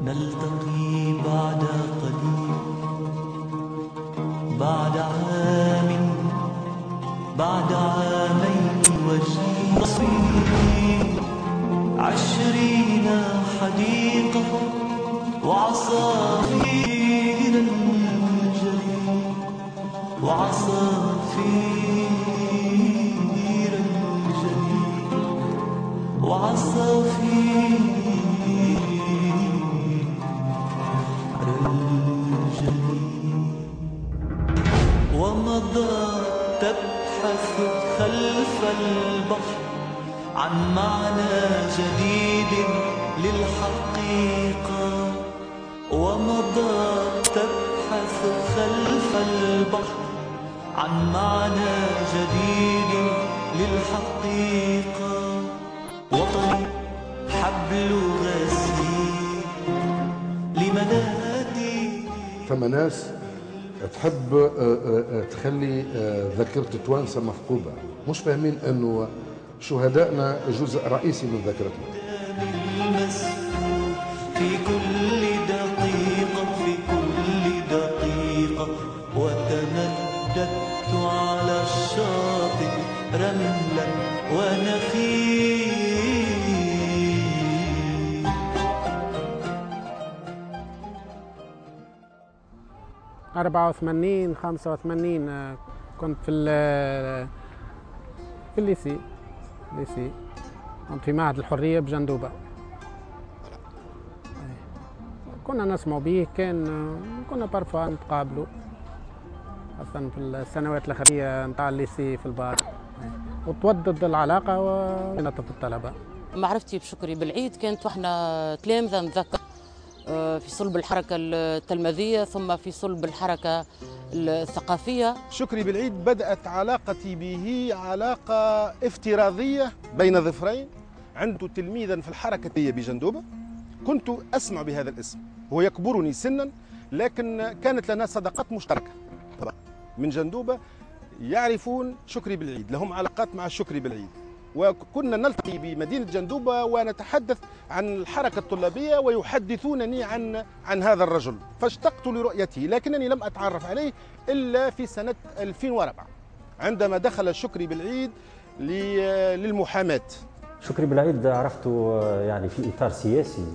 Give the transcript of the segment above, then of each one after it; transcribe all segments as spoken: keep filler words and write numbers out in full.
نلتقي بعد قليل، بعد عام، بعد عامين وجيل، عشرين حديقة وعصافير الجليل، وعصافير الجليل، وعصافير الجليل. ومضى تبحث خلف البحر عن معنى جديد للحقيقة، ومضى تبحث خلف البحر عن معنى جديد للحقيقة. وطني حبل غسيل لمنادي. ثم ناس تحب تخلي ذاكرة توانسة مفقودة، مش فاهمين أنه شهدائنا جزء رئيسي من ذاكرتنا. في كل دقيقة، في كل دقيقة، وتمددت على الشاطئ رملا ونخيل. أربعة وثمانين خمسة وثمانين كنت في في ال lycée lycée كنت في معهد الحرية بجندوبة. كنا نسمع به، كان كنا parfois نتقابلوا خاصة في السنوات الأخيرة نتاع ال lycée في البار، وتودد العلاقة ونطف الطلبة. معرفتي بشكري بالعيد كانت واحنا تلامذة، نتذكر في صلب الحركة التلمذية ثم في صلب الحركة الثقافية. شكري بالعيد بدأت علاقتي به علاقة افتراضية بين ظفرين. عنده تلميذا في الحركة بجندوبة، كنت أسمع بهذا الاسم، هو يكبرني سنا لكن كانت لنا صداقات مشتركة. طبعا من جندوبة يعرفون شكري بالعيد، لهم علاقات مع شكري بالعيد، وكنا نلتقي بمدينة جندوبة ونتحدث عن الحركة الطلابية ويحدثونني عن عن هذا الرجل، فاشتقت لرؤيته لكنني لم أتعرف عليه إلا في سنة ألفين وأربعة عندما دخل شكري بالعيد للمحاماة. شكري بالعيد عرفته يعني في إطار سياسي،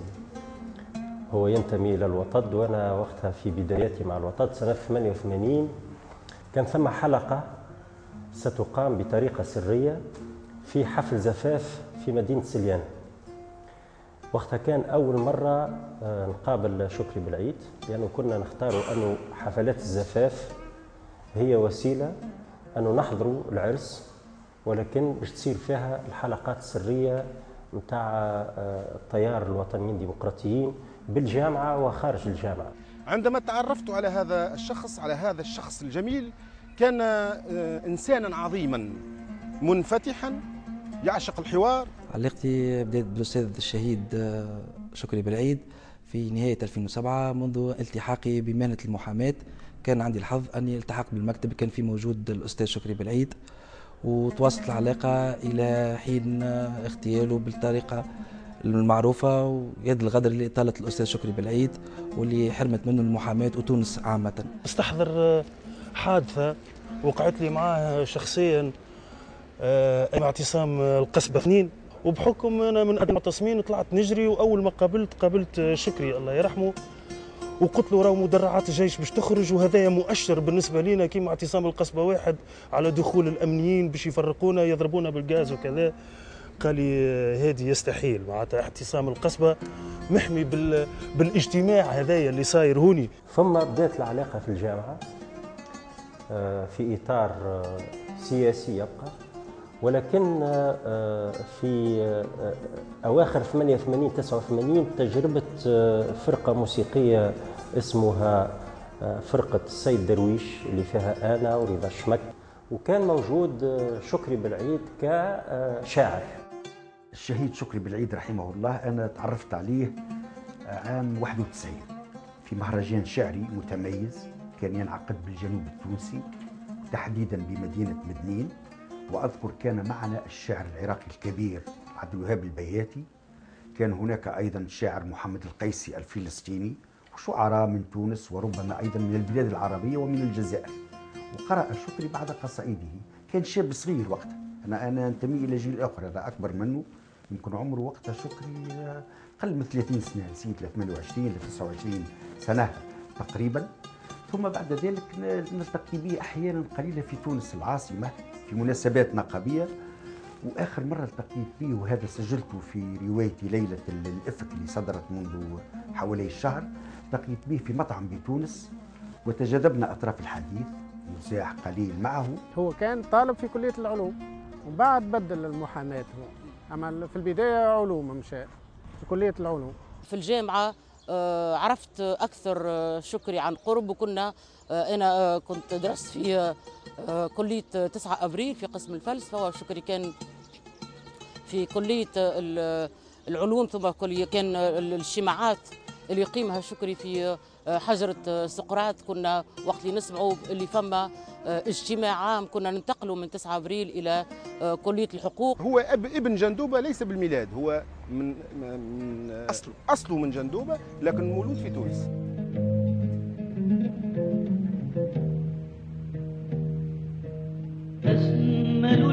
هو ينتمي إلى الوطد، وأنا وقتها في بداياتي مع الوطد سنة ثمانية وثمانين كان ثم حلقة ستقام بطريقة سرية في حفل زفاف في مدينة سليان. وقتها كان أول مرة نقابل شكري بالعيد، لأنه كنا نختار أنه حفلات الزفاف هي وسيلة أنه نحضروا العرس، ولكن باش تصير فيها الحلقات السرية نتاع التيار الوطنيين الديمقراطيين بالجامعة وخارج الجامعة. عندما تعرفت على هذا الشخص، على هذا الشخص الجميل، كان إنسانا عظيما منفتحا يعشق الحوار. علاقتي بدأت بالأستاذ الشهيد شكري بالعيد في نهاية ألفين وسبعة منذ التحاقي بمهنة المحاماة. كان عندي الحظ أني التحقت بالمكتب، كان في موجود الأستاذ شكري بالعيد، وتواصلت العلاقة إلى حين اغتياله بالطريقة المعروفة ويد الغدر اللي طالت الأستاذ شكري بالعيد واللي حرمت منه المحاماة وتونس عامة. استحضر حادثة وقعت لي معاه شخصيا، اعتصام القصبة اثنين، وبحكم أنا من المعتصمين طلعت نجري، وأول ما قابلت قابلت شكري الله يرحمه، وقلت له راهو مدرعات الجيش باش تخرج، وهذايا مؤشر بالنسبة لنا كيما اعتصام القصبة واحد على دخول الامنيين باش يفرقونا يضربونا بالغاز وكذا. قال لي هادي يستحيل، معناتها اعتصام القصبة محمي بال... بالاجتماع هذايا اللي صاير هوني. ثم بدات العلاقة في الجامعة في اطار سياسي يبقى، ولكن في أواخر ثمانية وثمانين تسعة وثمانين تجربة فرقة موسيقية اسمها فرقة السيد درويش اللي فيها أنا ورضا الشمك، وكان موجود شكري بالعيد كشاعر. الشهيد شكري بالعيد رحمه الله أنا تعرفت عليه عام واحد وتسعين في مهرجان شعري متميز كان ينعقد بالجنوب التونسي تحديدا بمدينة مدنين، وأذكر كان معنا الشاعر العراقي الكبير عبد الوهاب البياتي، كان هناك أيضا الشاعر محمد القيسي الفلسطيني، وشعراء من تونس وربما أيضا من البلاد العربية ومن الجزائر. وقرأ شكري بعض قصائده، كان شاب صغير وقتها، أنا أنا أنتمي إلى جيل آخر، هذا أكبر منه، يمكن عمره وقتها شكري أقل من ثلاثين سنة، نسيت ثمانية وعشرين ل تسعة وعشرين سنة تقريبا. ثم بعد ذلك نلتقي به أحيانا قليلة في تونس العاصمة في مناسبات نقابية. وآخر مرة التقيت به، وهذا سجلته في روايتي ليلة الإفك اللي صدرت منذ حوالي الشهر، التقيت به في مطعم بتونس وتجاذبنا أطراف الحديث، مزاح قليل معه. هو كان طالب في كلية العلوم وبعد بدل المحاماة هو، أما في البداية علوم، مشى في كلية العلوم. في الجامعة عرفت أكثر شكري عن قرب، وكنا أنا كنت درست في كلية تسعة أبريل في قسم الفلسفة، وشكري كان في كلية العلوم، ثم كلية كان الاجتماعات اللي يقيمها شكري في حجرة سقراط، كنا وقت اللي نسمعوا اللي فما اجتماع عام كنا ننتقلوا من تسعة أبريل إلى كلية الحقوق. هو أب ابن جندوبة ليس بالميلاد، هو من, من أصله أصله من جندوبة لكن مولود في تونس. أجمل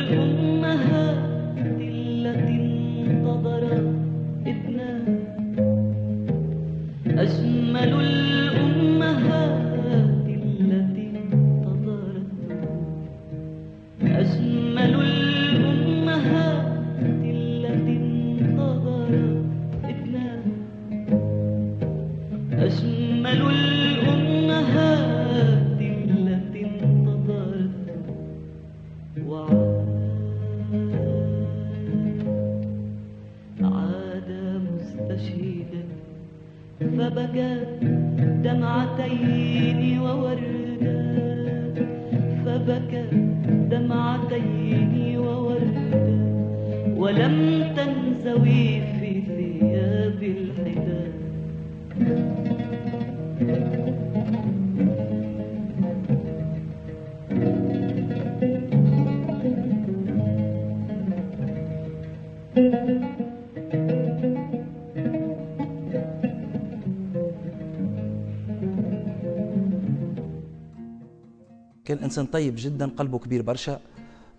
الأمهات التي انتظرت ابنها، أجمل الأمهات التي انتظرت، أجمل الأمهات التي انتظرت ابنها، أجمل الأمهات التي انتظرت. وعاد عاد مستشهدا فبكى دمعتين ووردا، فبكى دمعتين ووردا، ولم تنزوي في ثياب الحداد. كان إنسان طيب جدا، قلبه كبير برشا،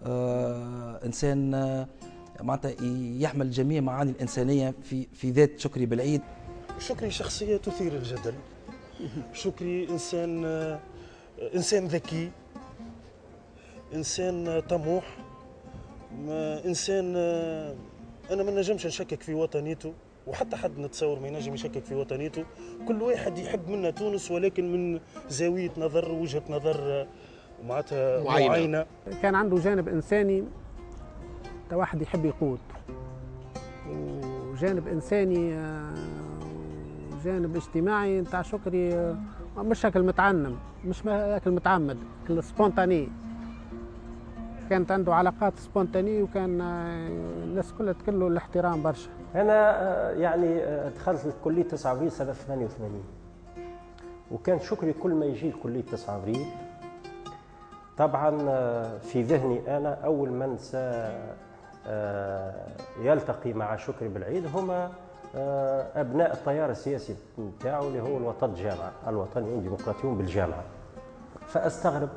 آه، إنسان آه، معناتها يحمل جميع معاني الإنسانية في في ذات شكري بالعيد. شكري شخصية تثير الجدل. شكري إنسان آه، إنسان ذكي، إنسان طموح، إنسان آه، أنا ما نجمش نشكك في وطنيته، وحتى حد نتصور ما ينجم يشكك في وطنيته. كل واحد يحب منا تونس، ولكن من زاوية نظر، وجهة نظر معناتها معينة. كان عنده جانب إنساني، واحد يحب يقود، وجانب إنساني، جانب اجتماعي نتاع شكري مش شكل متعنم، مش شكل متعمد، spontané. كانت عنده علاقات spontanées، وكان الناس كلها تكله الاحترام برشا. أنا يعني دخلت لكلية تسعة أبريل سنة ثمانية وثمانين، وكان شكري كل ما يجي لكلية تسعة أبريل طبعا في ذهني أنا أول من سيلتقي مع شكري بالعيد هما أبناء التيار السياسي نتاعو اللي هو الوطد جامعة، الوطنيون الديمقراطيون بالجامعة. فأستغرب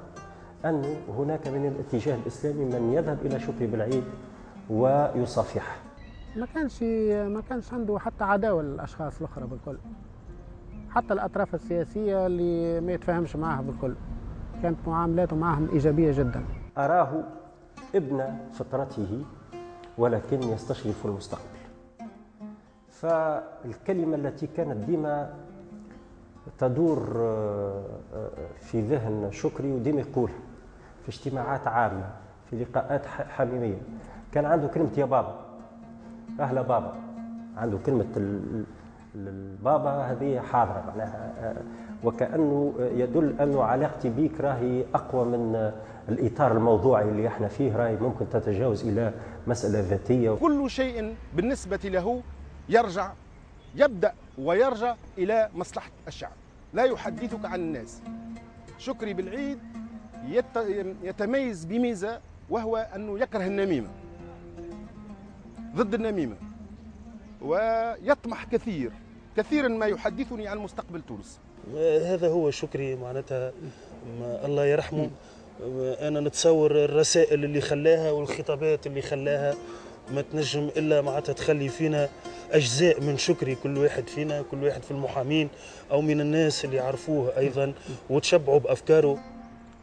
أنه هناك من الاتجاه الإسلامي من يذهب إلى شكري بالعيد ويصافحه. ما كانش ما كانش عنده حتى عداوة للأشخاص الأخرى بالكل، حتى الأطراف السياسية اللي ما يتفاهمش معها بالكل، كانت معاملاته معهم إيجابية جدا. أراه ابن فطرته ولكن يستشرف المستقبل. فالكلمة التي كانت ديما تدور في ذهن شكري وديما يقولها في اجتماعات عامة، في لقاءات حميمية، كان عنده كلمة يا بابا، أهلا بابا، عنده كلمة البابا هذه حاضرة معناها، وكأنه يدل أنه علاقتي بيك راهي أقوى من الإطار الموضوعي اللي احنا فيه، راهي ممكن تتجاوز إلى مسألة ذاتية. كل شيء بالنسبة له يرجع، يبدأ ويرجع إلى مصلحة الشعب، لا يحدثك عن الناس. شكري بالعيد يتميز بميزة، وهو أنه يكره النميمة، ضد النميمة. ويطمح كثير، كثيرا ما يحدثني عن مستقبل تونس. هذا هو شكري معناتها الله يرحمه. أنا نتصور الرسائل اللي خلاها والخطابات اللي خلاها ما تنجم إلا معناتها تخلي فينا أجزاء من شكري، كل واحد فينا، كل واحد في المحامين أو من الناس اللي عرفوه أيضا وتشبعوا بأفكاره.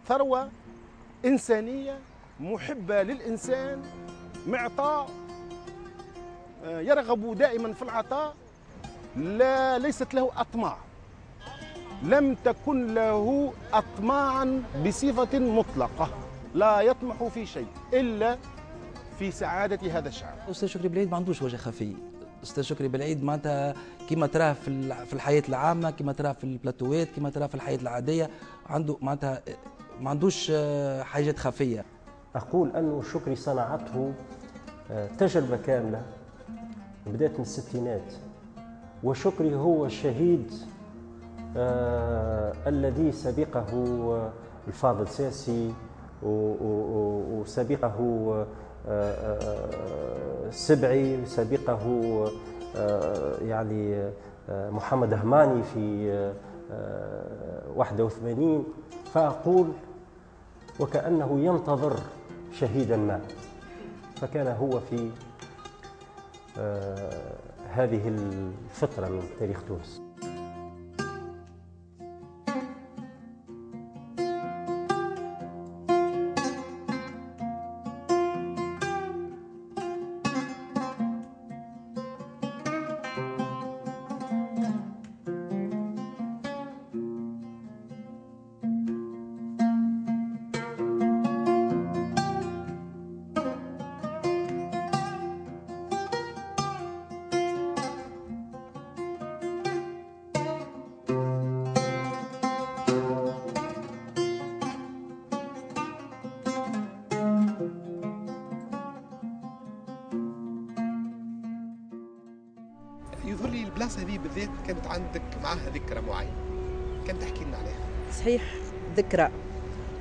ثروة إنسانية محبة للإنسان، معطاء، يرغب دائما في العطاء، لا ليست له أطماع، لم تكن له أطماعا بصفة مطلقة، لا يطمح في شيء إلا في سعادة هذا الشعب. أستاذ شكري بالعيد ما عندوش وجه خفي. أستاذ شكري بالعيد معناتها كما تراه في في الحياة العامة، كما تراه في البلاتوات، كما تراه في الحياة العادية، عنده معناتها ما عندوش حاجات خفية. أقول أنه شكري صنعته تجربة كاملة بدأت من الستينات، وشكري هو الشهيد آه الذي سبقه الفاضل ساسي وسبقه آه سبعي وسبقه آه يعني آه محمد هماني في آه واحد وثمانين. فأقول وكأنه ينتظر شهيدا ما، فكان هو في آه هذه الفترة من تاريخ تونس. يظهر لي البلاصة هذه بالذات كانت عندك معها ذكرى معينة، كان تحكي لنا عليها؟ صحيح، ذكرى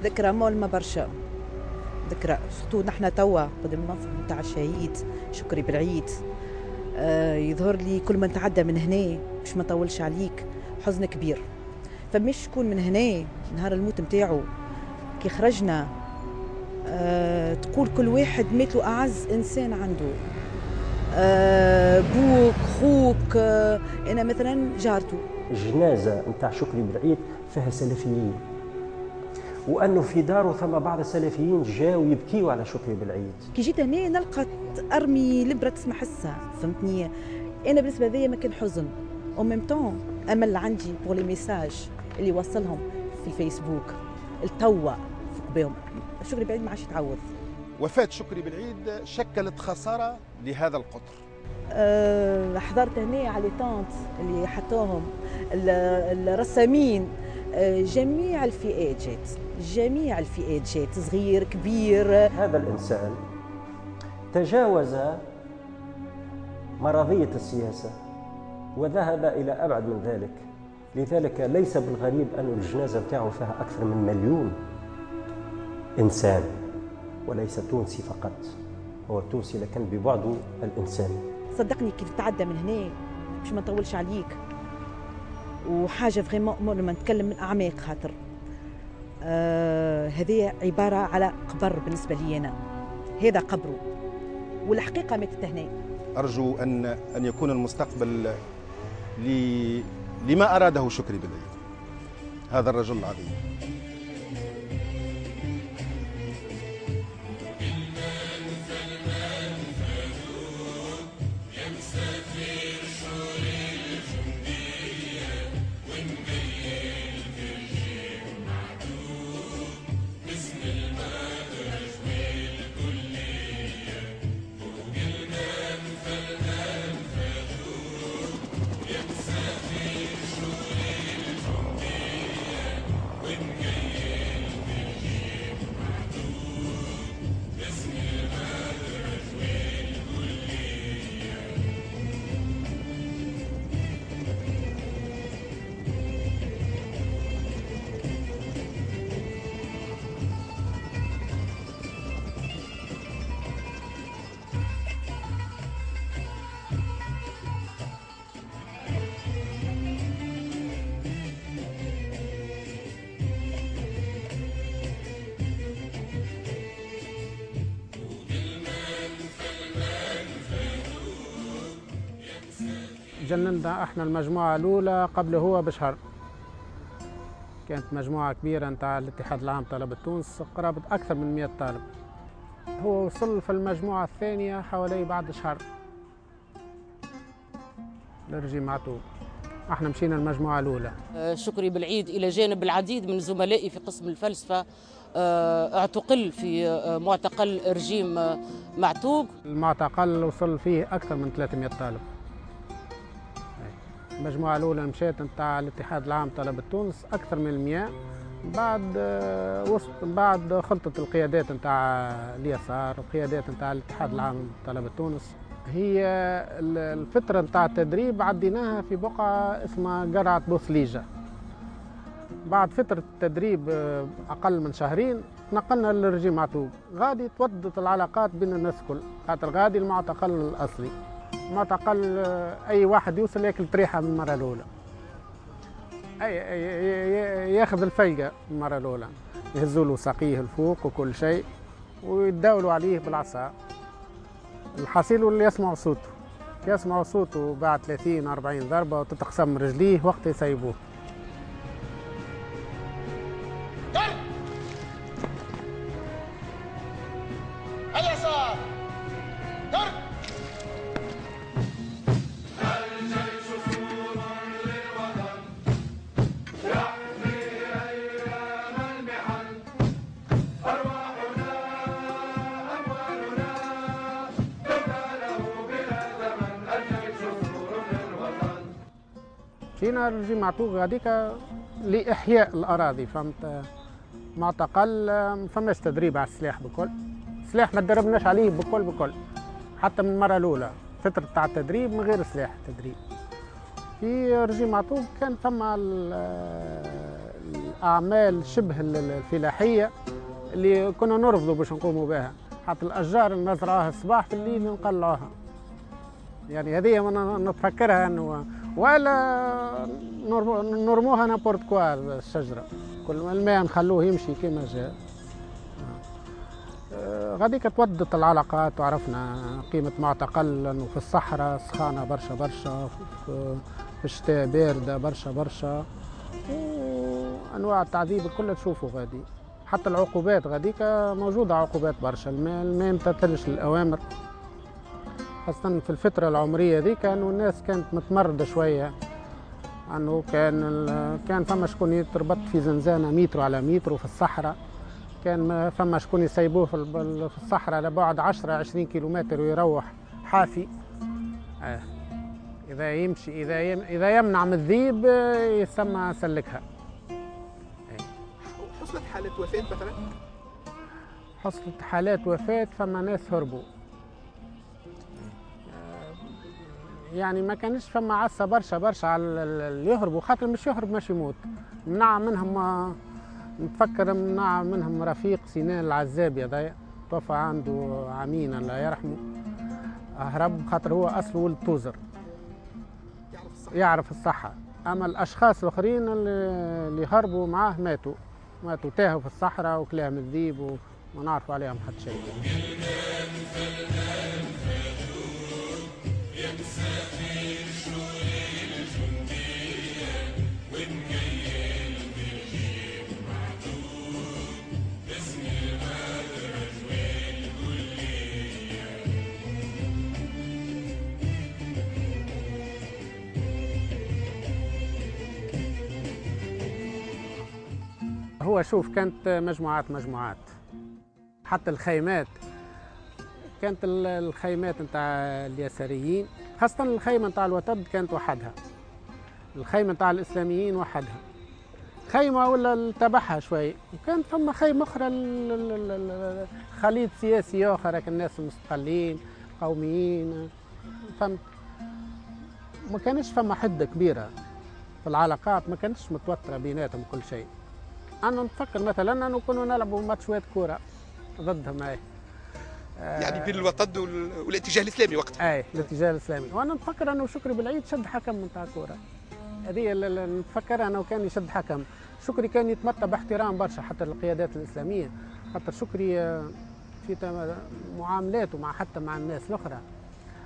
ذكرى مؤلمة برشا، ذكرى surtout نحن توا قدام المنصب نتاع الشهيد شكري بالعيد. آه يظهر لي كل ما نتعدى من هنا باش ما نطولش عليك حزن كبير، فمش شكون من هنا نهار الموت نتاعو كي خرجنا آه تقول كل واحد مات له اعز انسان عنده، آه بوك خوك. آه انا مثلا جارته. الجنازة نتاع شكري بالعيد فيها سلفيين، وانه في داره ثم بعض السلفيين جاوا يبكيوا على شكري بالعيد. كي جيت هنا نلقى ارمي لبره تسمع حسها، فهمتني؟ انا بالنسبة ليا ما كان حزن au même temps امل عندي pour les messages اللي وصلهم في الفيسبوك التوا فوق بهم. شكري بالعيد ما عادش يتعوض. وفاة شكري بالعيد شكلت خسارة لهذا القطر. أه حضرت هنا على les tentes اللي حطوهم الرسامين، أه جميع الفئات جات، جميع الفئات جات، صغير كبير. هذا الإنسان تجاوز مرضية السياسة وذهب إلى أبعد من ذلك، لذلك ليس بالغريب أن الجنازة بتاعه فيها أكثر من مليون إنسان، وليس تونسي فقط، هو تونسي لكن ببعده الإنساني. صدقني كيف تعدى من هنا باش ما نطولش عليك، وحاجة vraiment لما نتكلم من أعماق خاطر آه هذه عبارة على قبر بالنسبة لي أنا، هذا قبره والحقيقة ماتت هنا. أرجو أن أن يكون المستقبل ل... لما أراده شكري بالعيد، هذا الرجل العظيم. When تجندنا احنا المجموعة الأولى قبل هو بشهر. كانت مجموعة كبيرة نتاع الاتحاد العام طلبة تونس، قرابة أكثر من مئة طالب. هو وصل في المجموعة الثانية حوالي بعد شهر لرجيم معتوق. احنا مشينا المجموعة الأولى. شكري بالعيد إلى جانب العديد من زملائي في قسم الفلسفة اعتقل في معتقل رجيم معتوق. المعتقل وصل فيه أكثر من ثلاثمئة طالب. المجموعة الأولى مشات نتاع الاتحاد العام طلبة تونس أكثر من مئة. بعد وسط بعد خلطة القيادات نتاع اليسار القيادات نتاع الاتحاد العام طلبة تونس. هي الفترة نتاع التدريب عديناها في بقعة اسمها قرعة بوثليجة. بعد فترة التدريب أقل من شهرين نقلنا للرجيم معتوق. غادي تودت العلاقات بين الناس الكل، خاطر غادي المعتقل الأصلي. معتقل أي واحد يوصل ياكل طريحة من المرة الأولى، أي ياخذ الفلقة المرة الأولى، يهزوا له ساقيه الفوق وكل شيء ويتداولوا عليه بالعصا. الحصيل اللي يسمعوا صوته، يسمعوا صوته بعد ثلاثين أربعين ضربة وتتقسم رجليه وقت يسيبوه. اليسار ضرب. الجيش سور للوطن يحمي أيام المحن، أرواحنا أموالنا تبقى له بلا ثمن، الجيش سور للوطن. مشينا رجيم معتوق هذيك لإحياء الأراضي، فهمت؟ معتقل ما فماش تدريب على السلاح بكل، سلاح ما تدربناش عليه بكل بكل، حتى من المرة الأولى فترة تاع التدريب من غير سلاح تدريب. في رجيم معتوق كان فما الأعمال شبه الفلاحية اللي كنا نرفضوا باش نقوموا بها، حتى الأشجار اللي نزرعوها الصباح في الليل نقلعوها. يعني هذه نتفكرها انه ولا نرموها n'importe quoi الشجرة، كل الماء نخلوه يمشي كما جاء. غاديك تودت العلاقات وعرفنا قيمة معتقل، انه في الصحراء سخانة برشا برشا، في الشتاء باردة برشا برشا، وانواع التعذيب الكل تشوفوا غادي. حتى العقوبات غاديك موجودة، عقوبات برشا، الماء ما يمتثلش الأوامر، خاصة في الفترة العمرية ذيك انه الناس كانت متمردة شوية، انه كان كان فما شكون يتربط في زنزانة متر على متر في الصحراء، كان فما شكون يسيبوه في الصحراء لبعد عشرة عشرين كيلومتر ويروح حافي. آه. إذا يمشي إذا يم إذا يمنع من الذيب يسمى سلكها. آه. حصلت حالة وفاة مثلا؟ حصلت حالات وفاة، فما ناس هربوا. يعني ما كانش فما عصا برشا برشا على اللي يهربوا، خاطر مش يهرب مش يموت. منع منهم، نتفكر منع منهم رفيق سنان العزابي هذايا، توفى عنده عامين الله يرحمه، هرب خاطر هو اصله ولد توزر، يعرف الصحة. اما الاشخاص الاخرين اللي هربوا معاه ماتوا، ماتوا تاهوا في الصحراء وكلاهم الذيب وما نعرفوا عليهم حتى شيء. هو شوف، كانت مجموعات مجموعات، حتى الخيمات كانت الخيمات نتاع اليساريين، خاصة الخيمة نتاع الوطد كانت وحدها، الخيمة نتاع الإسلاميين وحدها، خيمة ولا تبعها شوي، وكانت فما خيمة أخرى خليط سياسي آخر، الناس المستقلين قوميين، فهمت؟ ما كانش فما حدة كبيرة في العلاقات، ما كانتش متوترة بيناتهم كل شيء. أنا نتفكر مثلا أنه كنا نلعبوا ماتشات كورة ضدهم، أي يعني بين الوطد والاتجاه الاسلامي وقتها. اي الاتجاه الاسلامي، وانا نتفكر انه شكري بالعيد شد حكم نتاع كورة. هذه اللي نتفكرها انه كان يشد حكم. شكري كان يتمتع باحترام برشا حتى القيادات الاسلامية، خاطر شكري في معاملاته مع حتى مع الناس الاخرى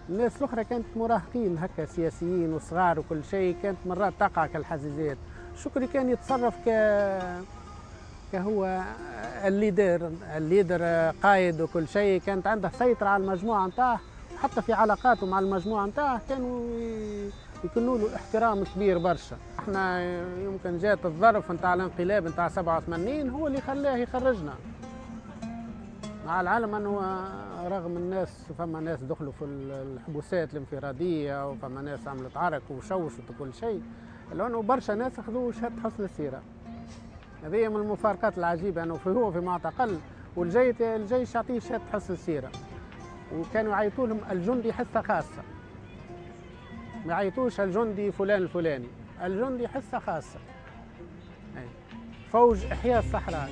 الناس الاخرى كانت مراهقين هكا سياسيين وصغار وكل شيء، كانت مرات تقع كالحزازات. شكري كان يتصرف ك كهو ال leader، ال leader قائد وكل شيء، كانت عنده سيطرة على المجموعة نتاعه، حتى في علاقاته مع المجموعة نتاعه كانوا يكونوا له احترام كبير برشا. احنا يمكن جات الظرف نتاع الانقلاب نتاع سبعة وثمانين هو اللي خلاه يخرجنا، مع العلم انه رغم الناس فما ناس دخلوا في الحبوسات الانفراديه وفما ناس عملت عرك وشوشت وكل شيء، لانه برشا ناس اخذوا شهادة حسن السيرة. هذه من المفارقات العجيبة انه هو في معتقل والجيش الجيش يعطيه شهادة حسن السيرة، وكانوا يعيطوا لهم الجندي حصة خاصة، ما يعيطوش الجندي فلان الفلاني، الجندي حصة خاصة. فوج احياء الصحراء.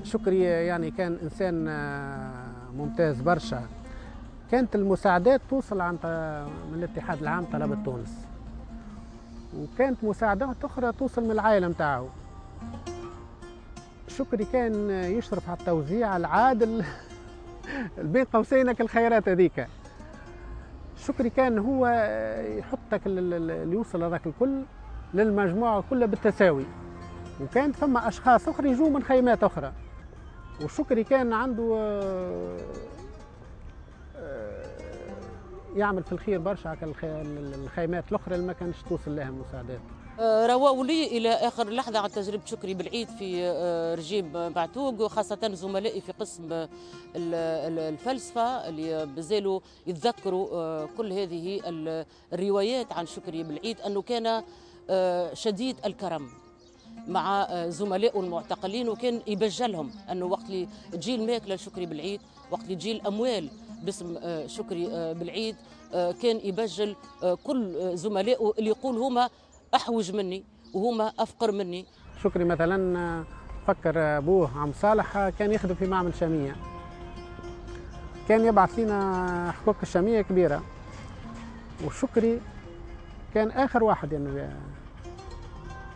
شكري يعني كان إنسان ممتاز برشا. كانت المساعدات توصل عن من الاتحاد العام طلبة تونس، وكانت مساعدات أخرى توصل من العائلة نتاعو. شكري كان يشرف على التوزيع العادل بين قوسين الخيرات هذيك. شكري كان هو يحطك اللي يوصل هذاك الكل للمجموعة كلها بالتساوي، وكانت فما أشخاص أخرى يجوا من خيمات أخرى. وشكري كان عنده يعمل في الخير برشا على الخيمات الأخرى اللي ما كانش توصل لها المساعدات. رواوا لي إلى آخر لحظة عن تجربة شكري بالعيد في رجيم معتوق، وخاصة زملائي في قسم الفلسفة اللي بزالوا يتذكروا كل هذه الروايات عن شكري بالعيد، أنه كان شديد الكرم مع زملائه المعتقلين، وكان يبجلهم أنه وقت اللي تجي الماكلة لشكري بالعيد، وقت اللي تجي الأموال باسم شكري بالعيد، كان يبجل كل زملائه اللي يقول هما أحوج مني وهما أفقر مني. شكري مثلا فكر أبوه عم صالح كان يخدم في معمل شامية، كان يبعث لنا حقوق الشامية كبيرة، وشكري كان آخر واحد يعني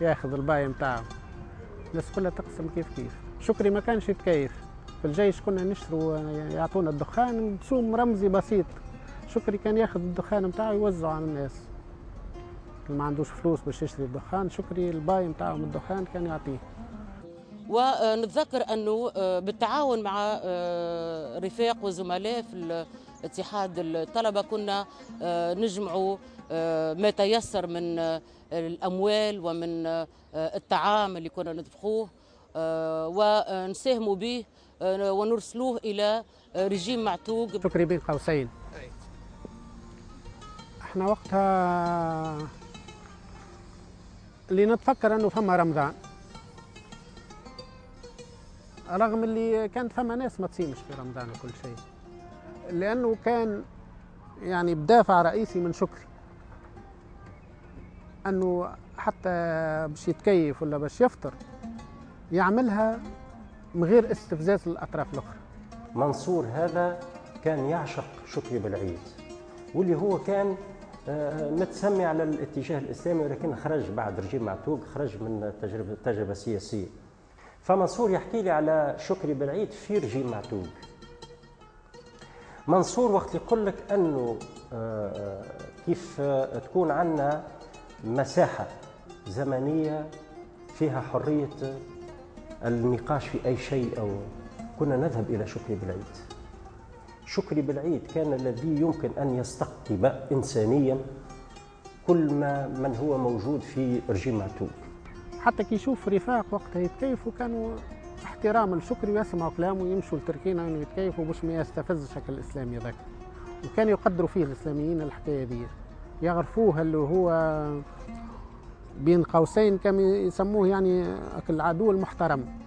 ياخذ الباي نتاعو، الناس كلها تقسم كيف كيف. شكري ما كانش يتكيف، في الجيش كنا نشتروا يعطونا الدخان بسوم رمزي بسيط، شكري كان ياخذ الدخان نتاعو يوزعه على الناس اللي ما عندوش فلوس باش يشتري الدخان، شكري الباي نتاعو من الدخان كان يعطيه. ونتذكر انه بالتعاون مع رفاق وزملاء في اتحاد الطلبة كنا نجمعوا ما تيسر من الاموال ومن الطعام اللي كنا نطبخوه ونساهموا به ونرسلوه الى رجيم معتوق. شكري بين قوسين احنا وقتها اللي نتفكر انه فما رمضان، رغم اللي كانت فما ناس ما تصيمش في رمضان وكل شيء، لانه كان يعني بدافع رئيسي من شكري انه حتى باش يتكيف ولا باش يفطر يعملها من غير استفزاز للاطراف الاخرى. منصور هذا كان يعشق شكري بالعيد، واللي هو كان متسمي على الاتجاه الاسلامي، ولكن خرج بعد رجيم معتوق، خرج من التجربة التجربة السياسية. فمنصور يحكي لي على شكري بالعيد في رجيم معتوق. منصور وقت يقول لك انه كيف تكون عندنا مساحة زمنية فيها حرية النقاش في اي شيء، او كنا نذهب الى شكري بالعيد. شكري بالعيد كان الذي يمكن ان يستقطب انسانيا كل ما من هو موجود في رجيم معتوق. حتى كي يشوف رفاق وقتها يتكيفوا كانوا احتراما لشكري ويسمعوا كلامه ويمشوا لتركينا انه يتكيفوا باش ما يستفزش شكل الاسلامي ذاك، وكانوا يقدروا فيه الاسلاميين الحكاية دي، يعرفوه اللي هو بين قوسين كما يسموه يعني العدو المحترم.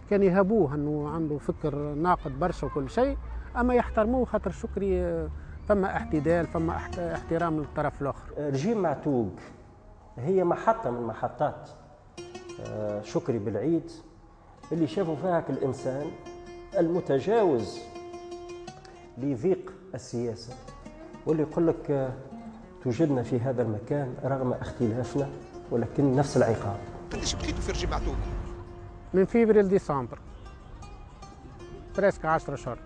كان يهابوه انه عنده فكر ناقد برشا وكل شيء، اما يحترموه خاطر شكري فما اعتدال، فما احترام للطرف الاخر. رجيم معتوق هي محطة من محطات شكري بالعيد اللي شافوا فيها الانسان المتجاوز لضيق السياسة، واللي يقول لك توجدنا في هذا المكان رغم اختلافنا ولكن نفس العقاب. قداش بقيتوا في رجيم معتوق؟ من فيفري لديسمبر presque عشرة شهور.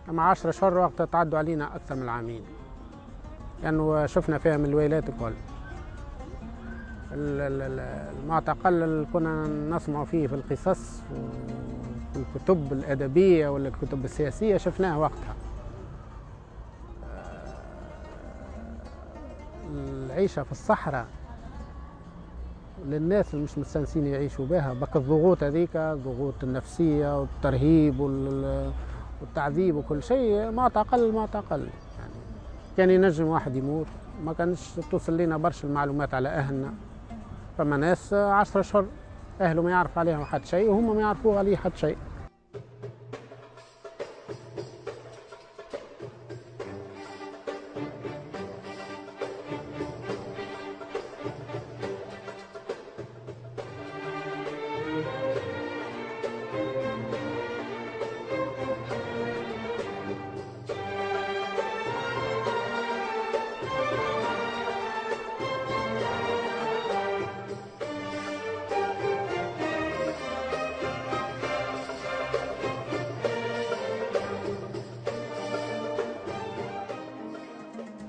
اما عشرة شهور وقت تعدوا علينا اكثر من العامين، لانه يعني شفنا فيها من الولايات الكل. المعتقل اللي كنا نسمع فيه في القصص وفي الكتب الادبية ولا الكتب السياسية شفناه وقتها. العيشة في الصحراء للناس اللي مش مستانسين يعيشوا بها، بك الضغوط هذيك، الضغوط النفسية والترهيب والتعذيب وكل شيء. معتقل معتقل يعني كان ينجم واحد يموت، ما كانش توصل لنا برشا المعلومات على اهلنا. فما ناس عشرة اشهر اهله ما يعرف عليهم حد شيء وهم ما يعرفوا عليه حد شيء.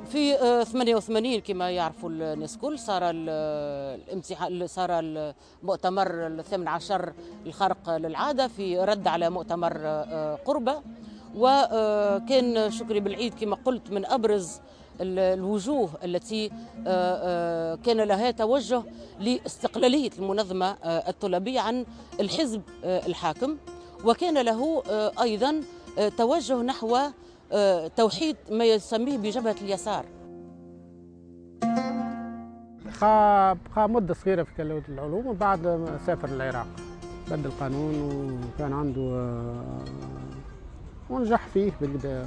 في ثمانية وثمانين كما يعرفوا الناس كل صار الامتحان، صار المؤتمر الثامن عشر الخارق للعادة في رد على مؤتمر قربة، وكان شكري بالعيد كما قلت من أبرز الوجوه التي كان لها توجه لاستقلالية المنظمة الطلابية عن الحزب الحاكم، وكان له أيضا توجه نحو توحيد ما يسميه بجبهة اليسار. بقى بقى مدة صغيرة في كلية العلوم وبعد سافر للعراق، بدل قانون وكان عنده ونجح فيه بالبداية.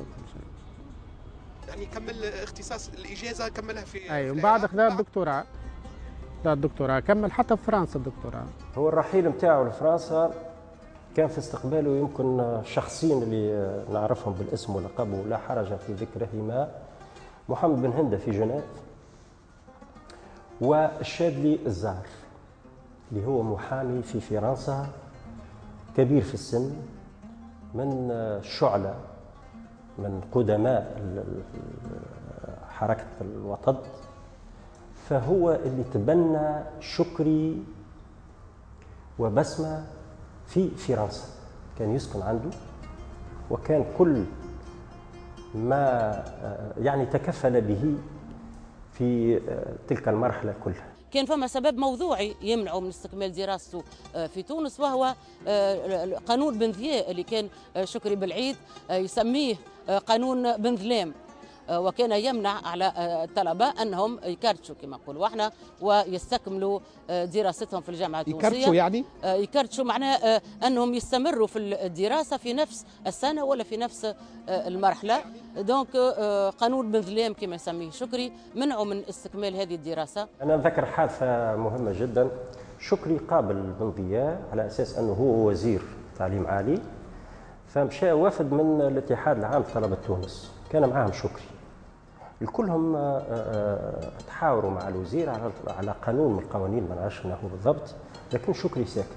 يعني كمل اختصاص الإجازة كملها في أي، ومن بعد خذا الدكتوراه، خذا الدكتوراه كمل حتى في فرنسا الدكتوراه. هو الرحيل نتاعو لفرنسا كان في استقباله يمكن شخصين اللي نعرفهم بالاسم ولقبه لا حرج في ذكرهما، محمد بن هندة في جنيف والشاذلي الزار اللي هو محامي في فرنسا كبير في السن، من الشعلة، من قدماء حركة الوطد، فهو اللي تبنى شكري وبسمة في فرنسا، كان يسكن عنده، وكان كل ما يعني تكفل به في تلك المرحلة كلها. كان فما سبب موضوعي يمنعه من استكمال دراسته في تونس، وهو قانون بن ضياء اللي كان شكري بالعيد يسميه قانون بن ظلام، وكان يمنع على الطلبة أنهم يكرتشوا كما نقولوا احنا ويستكملوا دراستهم في الجامعة التونسية. يكرتشوا يعني؟ يكرتشوا معناه أنهم يستمروا في الدراسة في نفس السنة ولا في نفس المرحلة. donc قانون بن ظلام كما يسميه شكري منعوا من استكمال هذه الدراسة. أنا نذكر حادثة مهمة جدا، شكري قابل بن ضياء على أساس أنه هو وزير تعليم عالي، فمشى وفد من الاتحاد العام لطلبة تونس، كان معاهم شكري، الكلهم تحاوروا مع الوزير على على قانون من القوانين ما نعرفش شنو هو بالضبط، لكن شكري ساكت.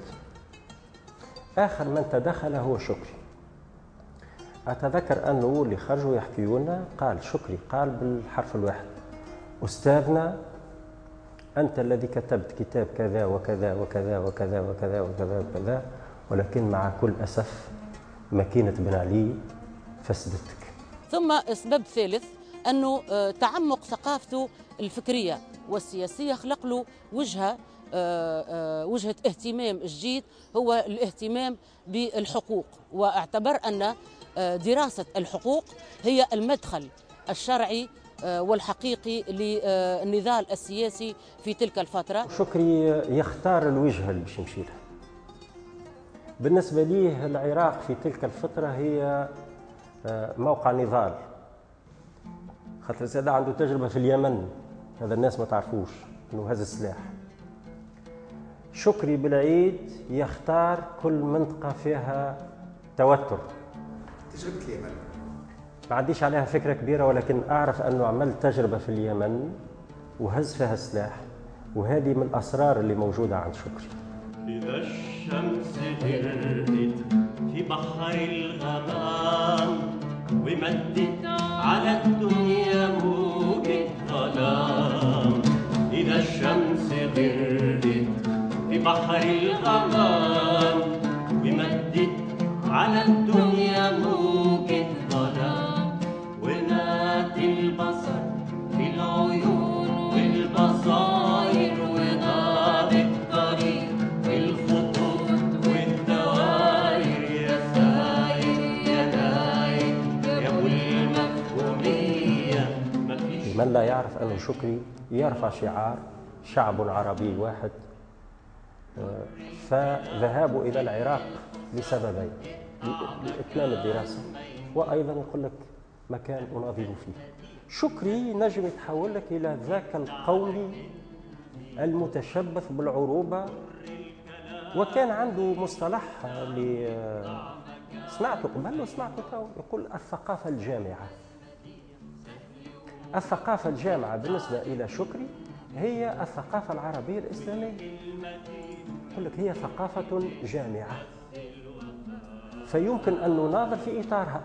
آخر من تدخل هو شكري. أتذكر أنه اللي خرجوا يحكيوا لنا قال شكري، قال بالحرف الواحد: أستاذنا أنت الذي كتبت كتاب كذا وكذا وكذا وكذا وكذا وكذا وكذا، ولكن مع كل أسف ماكينة بن علي فسدتك. ثم سبب ثالث أنه تعمق ثقافته الفكرية والسياسية خلق له وجهة وجهة اهتمام جديد، هو الاهتمام بالحقوق، واعتبر أن دراسة الحقوق هي المدخل الشرعي والحقيقي للنضال السياسي في تلك الفترة. شكري يختار الوجهة اللي باش يمشي لها، بالنسبة ليه العراق في تلك الفترة هي موقع نضال، خاطر زاد عنده تجربة في اليمن، هذا الناس ما تعرفوش أنه هذا السلاح. شكري بالعيد يختار كل منطقة فيها توتر. تجربة اليمن ما عنديش عليها فكرة كبيرة، ولكن أعرف أنه عمل تجربة في اليمن وهز فيها السلاح، وهذه من الأسرار اللي موجودة عند شكري. إذا الشمس غربت في بحر الغمام ومدت على الدنيا موجة ظلام، إذا الشمس غربت في بحر الغمام ومدت على الدنيا موجة ظلام، ومات البصر في العيون والبصائر وغاب الطريق في الخطوط والدوائر، يا ساير يا داير يا ابو المفهومية. من لا يعرف أن شكري يرفع شعار شعب عربي واحد، فذهابه إلى العراق لسببين: لإتمام الدراسة، وأيضا يقول لك مكان أناضل فيه. شكري نجم يتحول لك إلى ذاك القومي المتشبث بالعروبة، وكان عنده مصطلح اللي سمعته قبل وسمعته تو، يقول الثقافة الجامعة. الثقافة الجامعة بالنسبة إلى شكري هي الثقافة العربية الإسلامية، يقول لك هي ثقافة جامعة فيمكن أن نناظر في إطارها.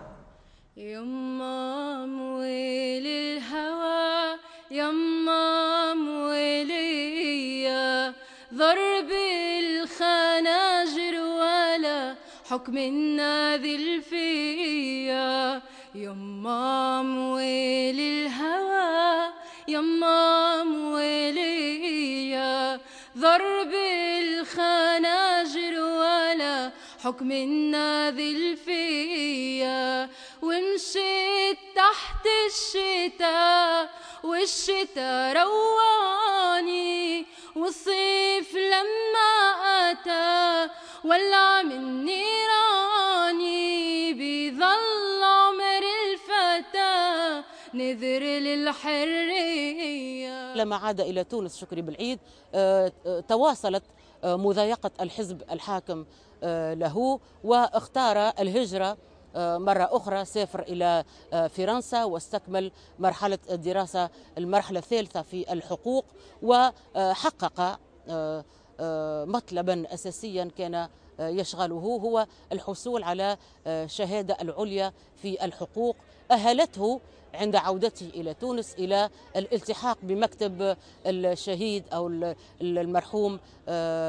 يما مويل الهوى يما مويلية، ضرب الخناجر ولا حكم الناذل فيا، يما مويل الهوى يما مويلية، ضرب الخناجر ولا حكم الناذل فيا، ومشيت تحت الشتاء والشتاء رواني، والصيف لما أتى ولع من نيراني، بيظل عمر الفتى نذر للحرية. لما عاد إلى تونس شكري بالعيد تواصلت مضايقة الحزب الحاكم له، واختار الهجرة مرة أخرى، سافر إلى فرنسا واستكمل مرحلة الدراسة المرحلة الثالثة في الحقوق، وحقق مطلبا أساسيا كان يشغله هو الحصول على شهادة العليا في الحقوق، أهلته عند عودته إلى تونس إلى الالتحاق بمكتب الشهيد أو المرحوم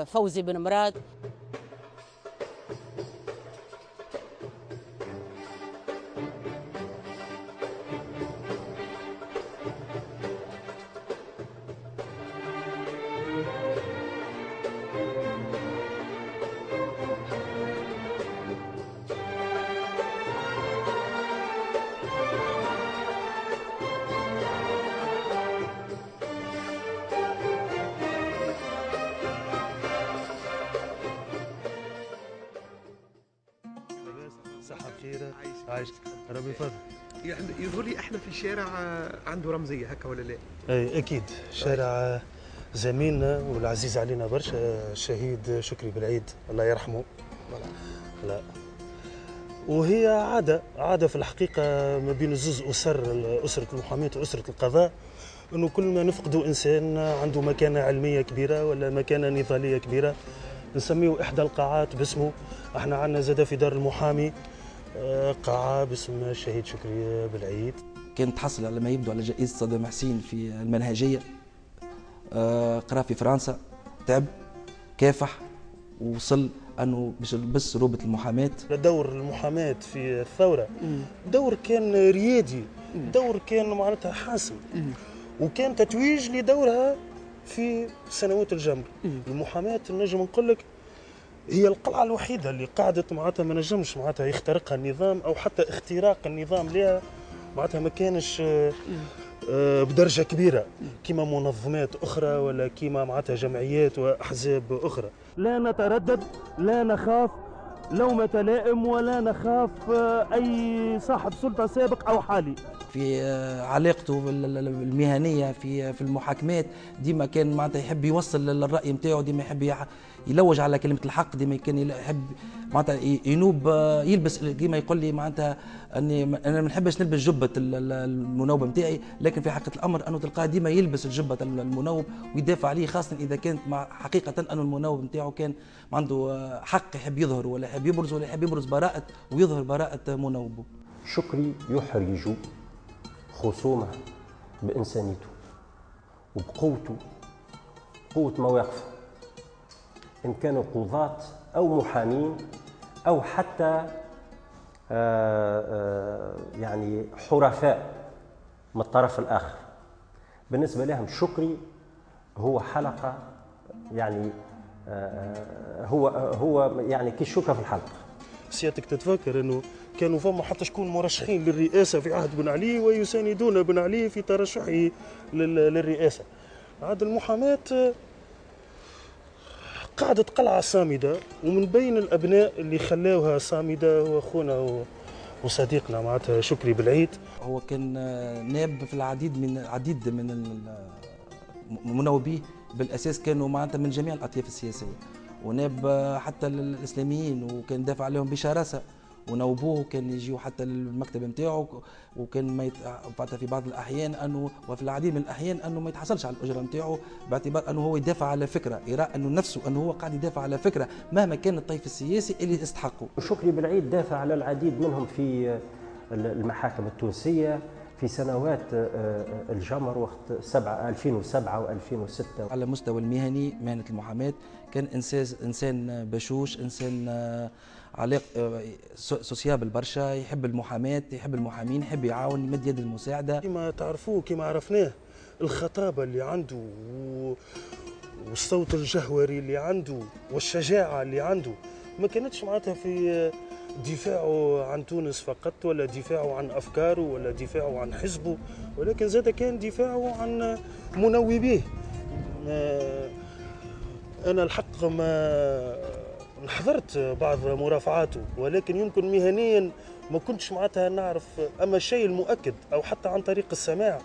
فوزي بن مراد. عايش ربي يفضل. يظهر لي احنا في شارع عنده رمزية هكا ولا لا؟ اي اكيد، شارع زميلنا والعزيز علينا برشا الشهيد شكري بالعيد الله يرحمه. لا وهي عادة عادة في الحقيقة ما بين زوز اسر، اسره المحاماة واسره القضاء، انه كل ما نفقدوا انسان عنده مكانه علمية كبيرة ولا مكانه نضالية كبيرة نسميه احدى القاعات باسمه. احنا عندنا زاده في دار المحامي قاعة باسم الشهيد شكري بالعيد. كان تحصل على ما يبدو على جائزة صدام حسين في المنهجية، قرأ في فرنسا، تعب، كافح، ووصل أنه باش يلبس روبة المحاماة. دور المحاماة في الثورة دور كان ريادي، دور كان معناتها حاسم، وكان تتويج لدورها في سنوات الجمر. المحاماة نجم نقول لك هي القلعة الوحيدة اللي قعدت معناتها ما نجمش معناتها يخترقها النظام، أو حتى اختراق النظام لها معناتها ما كانش بدرجة كبيرة كما منظمات أخرى ولا كما معناتها جمعيات وأحزاب أخرى. لا نتردد، لا نخاف، لومة لائم ولا نخاف أي صاحب سلطة سابق أو حالي. في علاقته المهنية في في المحاكمات ديما كان معناتها يحب يوصل الراي نتاعو، ديما يحب يلوج على كلمة الحق، ديما كان يحب معناتها ينوب يلبس، ديما يقول لي معناتها اني انا ما نحبش نلبس جبه المنوب نتاعي، لكن في حقيقة الامر انه تلقاه ديما يلبس الجبة المنوب ويدافع عليه، خاصة اذا كانت مع حقيقة انه المنوب نتاعو كان عنده حق يحب يظهر ولا يحب يبرز ولا يحب يبرز براءه ويظهر براءه منوبه. شكري يحرج خصومه بإنسانيته وبقوته، قوة مواقفه، إن كانوا قضاة أو محامين أو حتى آآ آآ يعني حرفاء من الطرف الآخر. بالنسبة لهم شكري هو حلقة، يعني هو هو يعني كالشوكة في الحلقة. سيادتك تتفكر انه كانوا فما حتى شكون مرشحين للرئاسة في عهد بن علي ويساندون بن علي في ترشحه للرئاسة. عاد المحاماة قعدت قلعه صامده، ومن بين الابناء اللي خلاوها صامده هو اخونا وصديقنا معناتها شكري بالعيد. هو كان ناب في العديد من العديد من مناوبيه بالاساس كانوا معناتها من جميع الاطياف السياسية، وناب حتى الاسلاميين وكان دافع عليهم بشراسة ونوبوه، وكان يجيو حتى للمكتب نتاعو، وكان ما يت... في بعض الاحيان انه وفي العديد من الاحيان انه ما يتحصلش على الاجرة نتاعو باعتبار انه هو يدافع على فكرة، يرى انه نفسه انه هو قاعد يدافع على فكرة مهما كان الطيف السياسي اللي استحقه. شكري بالعيد دافع على العديد منهم في المحاكم التونسية في سنوات الجمر وقت سبعة ألفين وسبعة وألفين وستة. على المستوى المهني مهنة المحاماة كان إنسان إنسان بشوش، إنسان علاق sociable برشا، يحب المحاماة، يحب المحامين، يحب يعاون، يمد يد المساعدة. كما تعرفوه كما عرفناه الخطابة اللي عنده والصوت الجهوري اللي عنده والشجاعة اللي عنده ما كانتش معناتها في دفاعه عن تونس فقط ولا دفاعه عن أفكاره ولا دفاعه عن حزبه، ولكن زاد كان دفاعه عن منوبيه. أنا الحق ما حضرت بعض مرافعاته، ولكن يمكن مهنيا ما كنتش معناتها نعرف. أما الشيء المؤكد أو حتى عن طريق السماع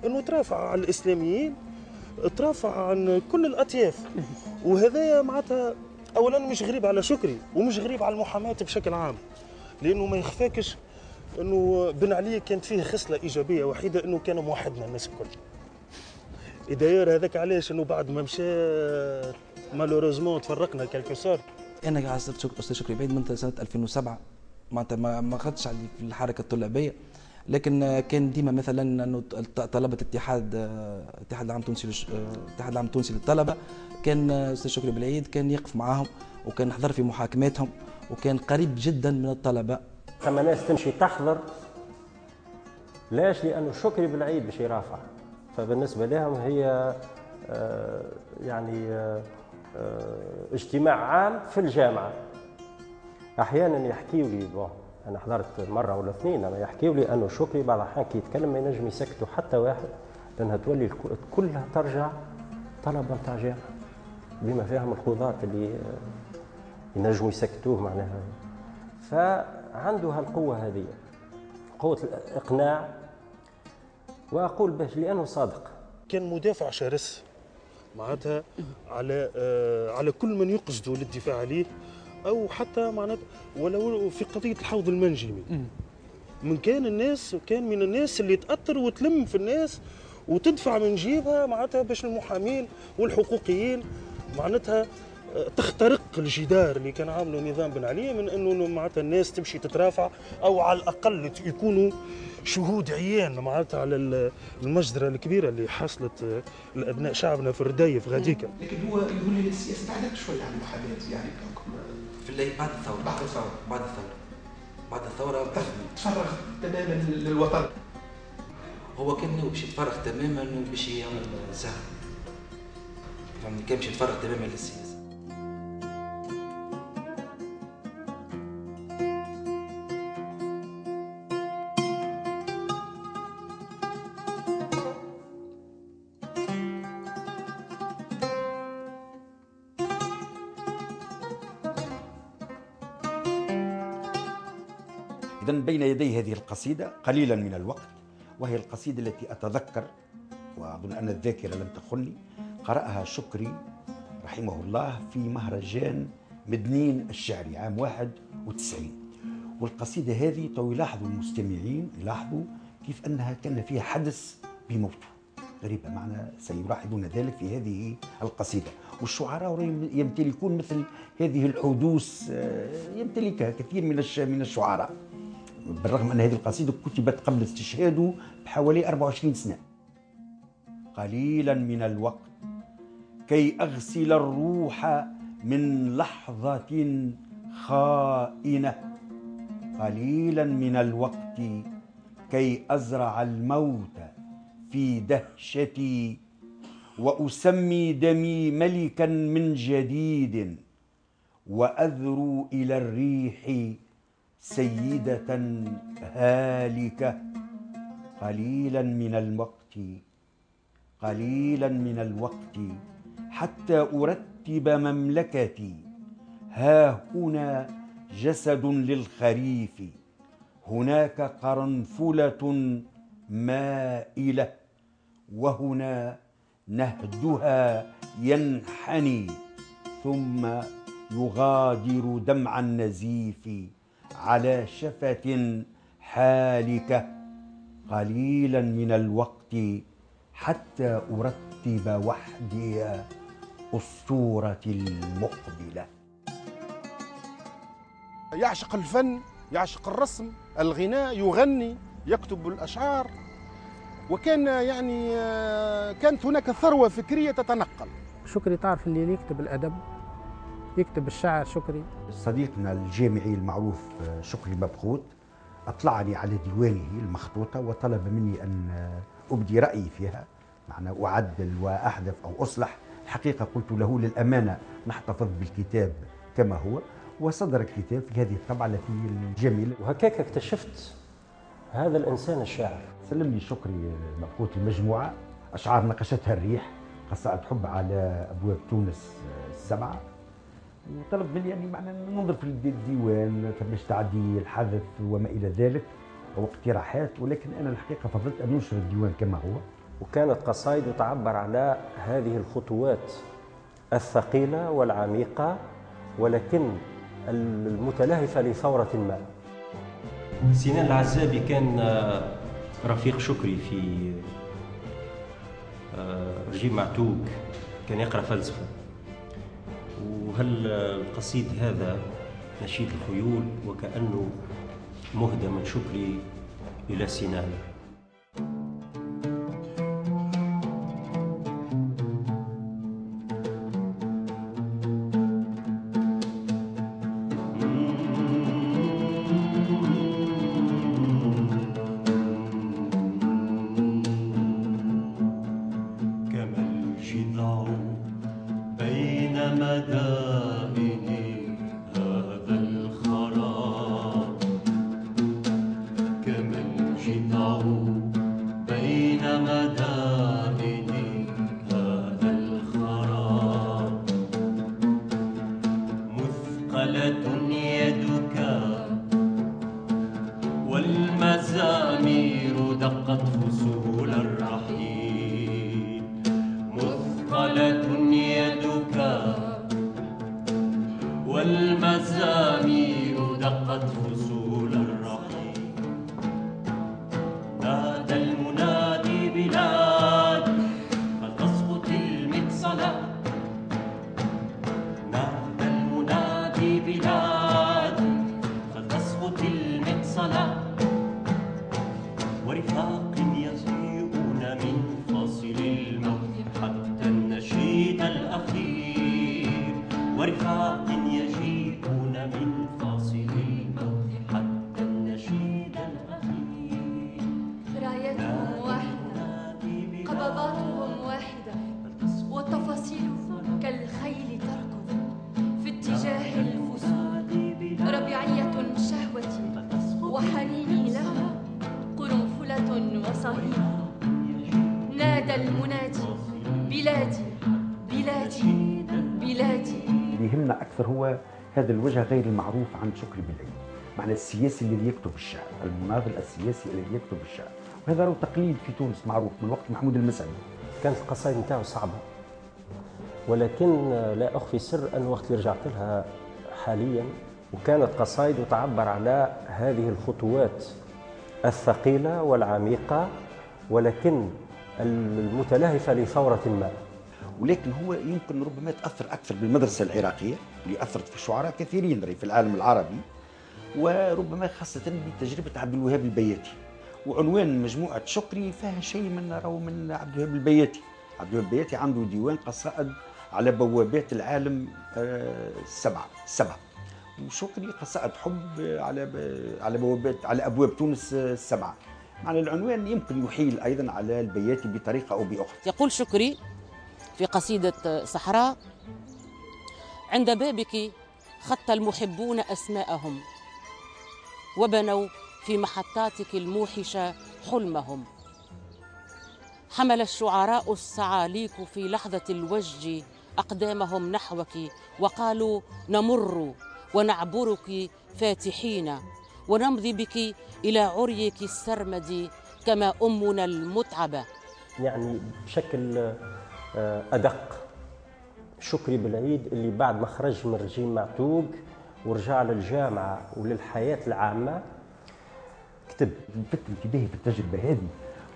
أنه ترافع عن الإسلاميين، ترافع عن كل الأطياف، وهذا معناتها اولا مش غريب على شكري ومش غريب على المحاماة بشكل عام، لانه ما يخفاكش انه بن علي كانت فيه خصلة ايجابية وحيده انه كان موحدنا الناس الكل. d'ailleurs هذاك علاش انه بعد ما مشى malheureusement تفرقنا quelque sorte. انا عاصرت استاذ شكري بعيد من سنة ألفين وسبعة، معناتها ما خدتش عليه في الحركة الطلابيه، لكن كان ديما مثلا انه طلبه اتحاد الاتحاد العام التونسي الاتحاد العام التونسي للطلبة كان استاذ شكري بالعيد كان يقف معاهم وكان حضر في محاكماتهم وكان قريب جدا من الطلبة. ثم ناس تمشي تحضر ليش؟ لانه شكري بالعيد باش يرافع، فبالنسبه لهم هي يعني اجتماع عام في الجامعة. احيانا يحكيوا لي، أنا حضرت مرة ولا اثنين، أما يحكيوا لي أنه شكري بعض الأحيان كي يتكلم ما ينجم يسكتوا حتى واحد، لأنها تولي كلها ترجع طلبة نتاع جامعة بما فيهم القضاة اللي ينجموا يسكتوه معناها. فعنده هالقوة هذه، قوة الإقناع، وأقول باش لأنه صادق. كان مدافع شرس معناتها على آه على كل من يقصده للدفاع عليه، او حتى معناتها ولو في قضية الحوض المنجمي. من كان الناس كان من الناس اللي تاثر وتلم في الناس وتدفع من جيبها معناتها باش المحامين والحقوقيين معناتها تخترق الجدار اللي كان عامله نظام بن علي، من انه معناتها الناس تمشي تترافع او على الاقل يكونوا شهود عيان معناتها على المجزرة الكبيرة اللي حصلت لابناء شعبنا في الردايف غاديكا. لكن هو يقول لي السياسة بعدت شوية عن المحاماة، يعني بحكم في الليل بعد الثورة بعد الثورة بعد الثورة بعد الثورة تفرغ تماما للوطن. هو كان ناوي باش يتفرغ تماما وباش يعمل سهر، فهمتني، كان باش يتفرغ تماما للسياسة. إذن بين يدي هذه القصيدة قليلا من الوقت، وهي القصيدة التي أتذكر وأظن أن الذاكرة لم تخني، قرأها شكري رحمه الله في مهرجان مدنين الشعري عام واحد وتسعين. والقصيدة هذه تو يلاحظوا المستمعين، يلاحظوا كيف أنها كان فيها حدث بموته غريبة، معنا سيلاحظون ذلك في هذه القصيدة. والشعراء يمتلكون مثل هذه الحدوث، يمتلكها كثير من من الشعراء، بالرغم أن هذه القصيدة كتبت قبل استشهاده بحوالي أربعة وعشرين سنة. قليلا من الوقت كي أغسل الروح من لحظة خائنة، قليلا من الوقت كي أزرع الموت في دهشتي وأسمي دمي ملكا من جديد، وأذرو إلى الريح سيدة هالكة. قليلا من الوقت، قليلا من الوقت حتى أرتب مملكتي، ها هنا جسد للخريف، هناك قرنفلة مائلة، وهنا نهدها ينحني ثم يغادر دمع النزيف على شفة حالكة. قليلا من الوقت حتى أرتب وحدي أسطورة المقبلة. يعشق الفن، يعشق الرسم، الغناء، يغني، يكتب الأشعار، وكان يعني كانت هناك ثروة فكرية تتنقل. شكري تعرف اللي يكتب الأدب، يكتب الشعر. شكري صديقنا الجامعي المعروف شكري مبخوت أطلعني على ديوانه المخطوطة وطلب مني أن أبدي رأيي فيها، معنى أعدل وأحذف أو أصلح. الحقيقة قلت له للأمانة نحتفظ بالكتاب كما هو، وصدر الكتاب في هذه الطبعة التي الجميلة. وهكاك اكتشفت هذا الإنسان الشاعر. سلم لي شكري مبخوت المجموعة أشعار نقشتها الريح، قصائد حب على أبواب تونس السبعة، وطلب مني يعني معنى ننظر في الديوان فماش تعديل، حذف وما إلى ذلك أو اقتراحات، ولكن أنا الحقيقة فضلت أن ننشر الديوان كما هو. وكانت قصائده تعبر على هذه الخطوات الثقيلة والعميقة ولكن المتلهفة لثورة ما. سنان العزابي كان رفيق شكري في رجيم معتوق، كان يقرأ فلسفة. وهل القصيد هذا نشيد الخيول وكأنه مهدى من شكري إلى سنان. هذا الوجه غير المعروف عن شكري بالعيد. معنى السياسي الذي يكتب الشعر، المناضل السياسي الذي يكتب الشعر، وهذا هو تقليد في تونس معروف من وقت محمود المسعدي. كانت القصائد نتاعو صعبة، ولكن لا أخفي سر أن وقت اللي رجعت لها حاليا وكانت قصائد تعبر على هذه الخطوات الثقيلة والعميقة، ولكن المتلهفة لثورة ما. ولكن هو يمكن ربما تأثر أكثر بالمدرسة العراقية اللي أثرت في شعراء كثيرين في العالم العربي، وربما خاصة بتجربة عبد الوهاب البياتي. وعنوان مجموعة شكري فيها شيء من راهو من عبد الوهاب البياتي. عبد الوهاب البياتي عنده ديوان قصائد على بوابات العالم السبعة السبعة، وشكري قصائد حب على على بوابات على أبواب تونس السبعة. معنى العنوان يمكن يحيل أيضا على البياتي بطريقة أو بأخرى. يقول شكري في قصيدة صحراء: عند بابك خط المحبون أسماءهم، وبنوا في محطاتك الموحشة حلمهم. حمل الشعراء الصعاليك في لحظة الوجد أقدامهم نحوك، وقالوا نمر ونعبرك فاتحين، ونمضي بك إلى عريك السرمد كما أمنا المتعبة. يعني بشكل أدق شكري بالعيد اللي بعد ما خرج من رجيم معتوق ورجع للجامعة وللحياة العامة كتب. لفت انتباهي في التجربة هذه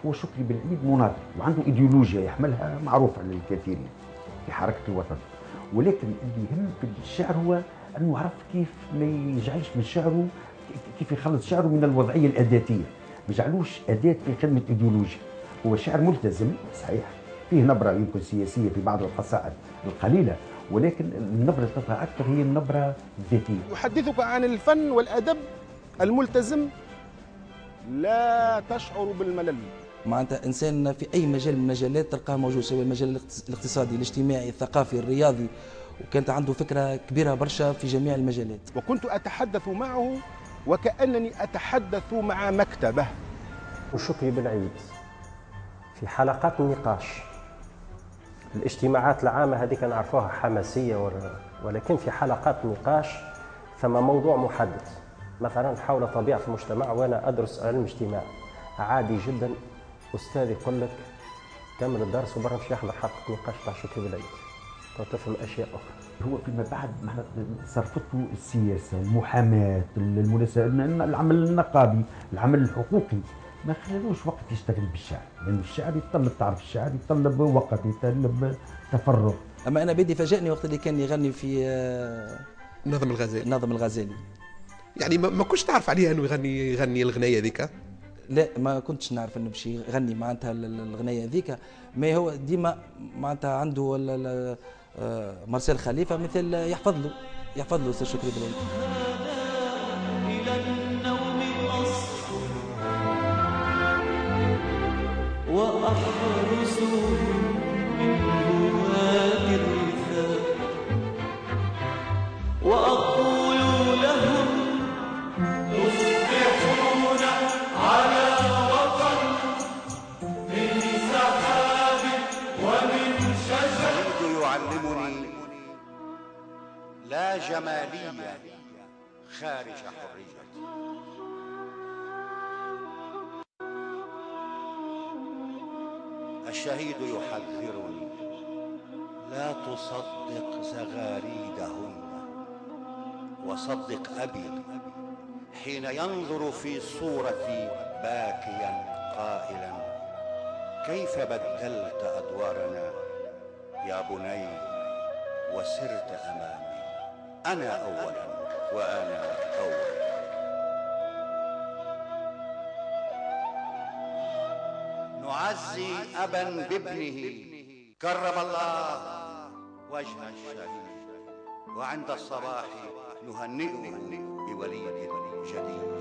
هو شكري بالعيد مناضل وعنده ايديولوجيا يحملها معروفة للكثيرين في حركة الوطن، ولكن اللي يهم في الشعر هو أنه عرف كيف ما يجعلش من شعره، كيف يخلص شعره من الوضعية الأداتية، ما يجعلوش أداة في خدمة ايديولوجيا. هو شعر ملتزم صحيح، فيه نبرة يمكن سياسية في بعض القصائد القليلة، ولكن النبرة اللي تظهر أكثر هي النبرة الذاتية. يحدثك عن الفن والأدب الملتزم، لا تشعر بالملل. معناتها إنسان في أي مجال من المجالات تلقاه موجود، سواء المجال الاقتصادي، الاجتماعي، الثقافي، الرياضي، وكانت عنده فكرة كبيرة برشا في جميع المجالات. وكنت أتحدث معه وكأنني أتحدث مع مكتبه. وشكري بالعيد في حلقات النقاش، الاجتماعات العامة هذه كان عرفوها حماسية، ولكن في حلقات النقاش ثم موضوع محدد، مثلا حول طبيعة المجتمع، وأنا أدرس علم اجتماع. عادي جدا أستاذ يقول لك كمل الدرس وبرا مش يحضر حلقة نقاش تاع شكري بالعيد تفهم أشياء أخرى. هو فيما بعد صرفته السياسة، المحاماة، المناسبة، العمل النقابي، العمل الحقوقي، ما خلالوش وقت يشتغل بالشعر، لأن يعني الشعر يتطلب، تعرف الشعر يتطلب وقت، يتطلب تفرغ. أما أنا بدي فاجأني وقت اللي كان يغني في ناظم الغزالي. ناظم الغزالي. يعني ما كنتش تعرف عليه أنه يغني يغني الغنية ذيك؟ لا، ما كنتش نعرف انه باش يغني معناتها الغنية ذيك، ما هو ديما معناتها عنده مارسيل خليفة مثل يحفظ له يحفظ له أستاذ شكري بالعيد. إلى النوم أصل وأحرس من هواة الرثاء، وأقول لهم تصبحون على وطن من سحاب ومن شجر. يعلمني لا جمالية خارج حريتي. الشهيد يحذرني لا تصدق زغاريدهن، وصدق أبي حين ينظر في صورتي باكيا قائلا كيف بدلت أدوارنا يا بني وسرت أمامي، أنا أولا وأنا أولا. نعزي أبا بابنه كرم الله وجه الشهيد، وعند الصباح نهنئه بوليد جديد.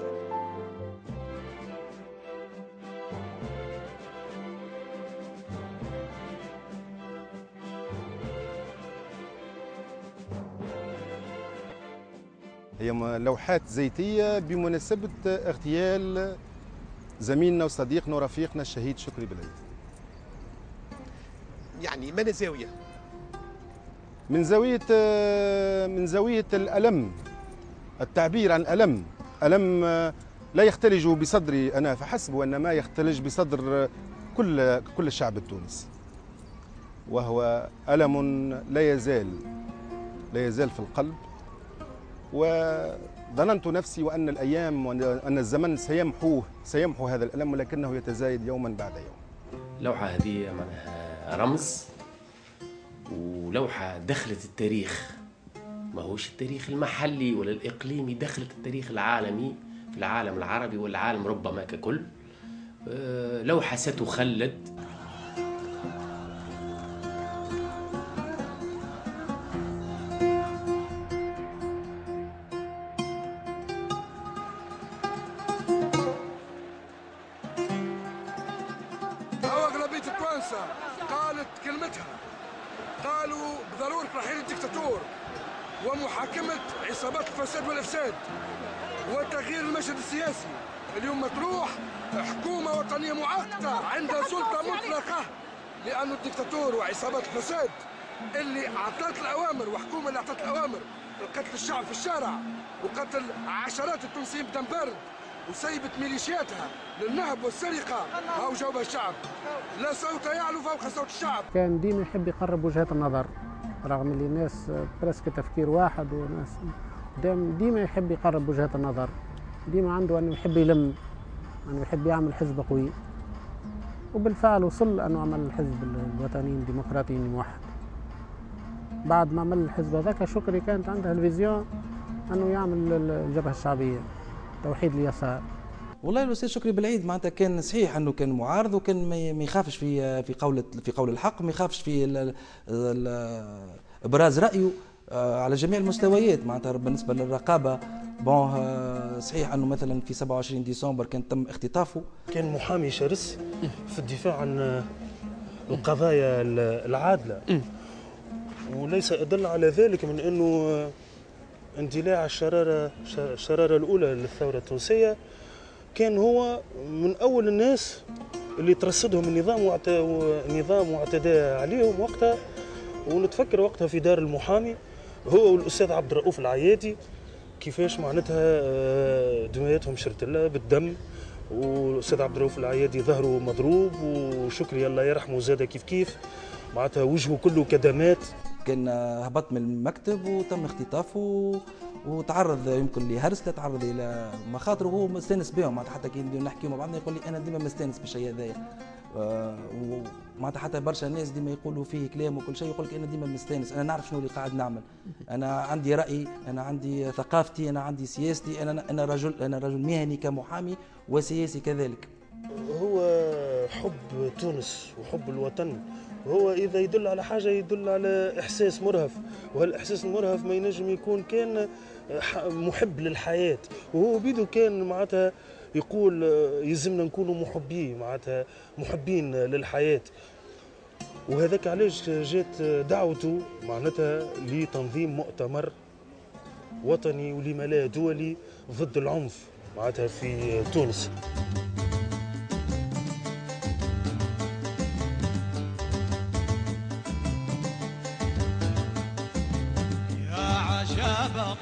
هي لوحات زيتية بمناسبة اغتيال زميلنا وصديقنا ورفيقنا الشهيد شكري بالعيد. يعني من زاوية؟ من زاوية من زاوية الألم، التعبير عن الألم. ألم لا يختلج بصدري أنا فحسب، وإنما يختلج بصدر كل كل الشعب التونسي، وهو ألم لا يزال لا يزال في القلب. وظننت نفسي وأن الأيام وأن الزمن سيمحوه سيمحو هذا الألم، ولكنه يتزايد يوما بعد يوم. اللوحة هذه معناها رمز، ولوحة دخلت التاريخ، ما هوش التاريخ المحلي ولا الإقليمي، دخلت التاريخ العالمي في العالم العربي والعالم ربما ككل. لوحة ستخلد. أغلبية التوانسة قالت كلمتها، قالوا بضرورة رحيل الدكتاتور ومحاكمة عصابات الفساد والإفساد وتغيير المشهد السياسي. اليوم مطروح حكومة وطنية معقدة عندها سلطة مطلقة، لأن الدكتاتور وعصابات الفساد اللي أعطت الأوامر، وحكومة اللي أعطت الأوامر قتل الشعب في الشارع وقتل عشرات التونسيين بدم بارد وسيبت ميليشياتها للنهب والسرقة، هاو جاوبها الشعب. لا صوت يعلو فوق صوت الشعب. كان ديما يحب يقرب وجهات النظر، رغم اللي الناس presque تفكير واحد، وناس ديما يحب يقرب وجهات النظر، ديما عنده انه يحب يلم، انه يحب يعمل حزب قوي، وبالفعل وصل انه عمل الحزب الوطني الديمقراطي الموحد. بعد ما عمل الحزب هذاك، شكري كانت عندها ال vision انه يعمل الجبهة الشعبية، توحيد اليسار. والله الاستاذ شكري بالعيد معناتها كان صحيح انه كان معارض، وكان ما يخافش في في قول في قول الحق، ما يخافش في ال ال ابراز رايه على جميع المستويات. معناتها بالنسبة للرقابة bon صحيح انه مثلا في سبعة وعشرين ديسمبر كان تم اختطافه. كان محامي شرس في الدفاع عن القضايا العادلة، وليس ادل على ذلك من انه اندلاع الشرارة الشرارة الاولى للثورة التونسية كان هو من اول الناس اللي ترصدهم النظام والنظام واعتدى عليهم وقتها. ونتفكر وقتها في دار المحامي هو والاستاذ عبد الرؤوف العيادي كيفاش معناتها دمياتهم شرتله بالدم، والاستاذ عبد الرؤوف العيادي ظهره مضروب، وشكري الله يرحمه زاد كيف كيف معناتها وجهه كله كدمات. كان هبط من المكتب وتم اختطافه وتعرض يمكن لهرسله، تعرض الى مخاطر وهو مستانس بهم. معناتها حتى كي نحكيو مع بعضنا يقول لي انا ديما مستانس بالشيء هذايا، ومعناتها حتى برشا ناس ديما يقولوا فيه كلام وكل شيء، يقول لك انا ديما مستانس، انا نعرف شنو اللي قاعد نعمل، انا عندي رايي، انا عندي ثقافتي، انا عندي سياستي، انا انا رجل انا رجل مهني كمحامي وسياسي كذلك. هو حب تونس وحب الوطن، هو إذا يدل على حاجة يدل على إحساس مرهف، وهالإحساس المرهف ما ينجم يكون كان محب للحياة، وهو بيدو كان معناتها يقول يلزمنا نكونوا محبين، معناتها محبين للحياة. وهذاك علاش جات دعوته معناتها لتنظيم مؤتمر وطني ولما لا دولي ضد العنف معناتها في تونس. عجبا